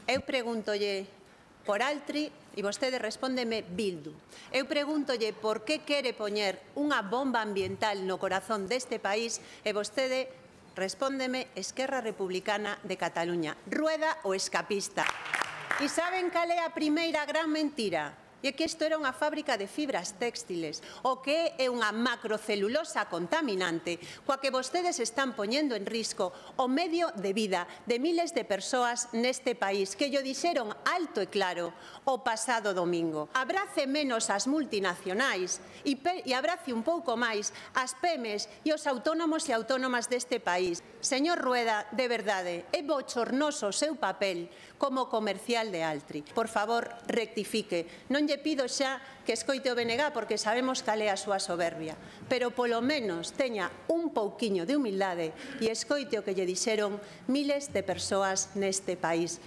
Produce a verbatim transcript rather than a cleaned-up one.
Eu pregúntolle por Altri e vostede respóndeme Bildu. Eu pregúntolle por que quere poñer unha bomba ambiental no corazón deste país e vostede respóndeme Esquerra Republicana de Cataluña. Rueda o escapista. E saben cal é a primeira gran mentira? E que isto era unha fábrica de fibras textiles, o que é unha macrocelulosa contaminante, coa que vostedes están poñendo en risco o medio de vida de miles de persoas neste país, que llo dixeron alto e claro o pasado domingo. Abrace menos as multinacionais e, e abrace un pouco máis as pemes e os autónomos e autónomas deste país. Señor Rueda, de verdade, é bochornoso o seu papel como comercial de Altri. Por favor, rectifique. Non lle pido xa que escoite o B N G porque sabemos cal é a súa soberbia, pero polo menos teña un pouquiño de humildade e escoite o que lle dixeron miles de persoas neste país.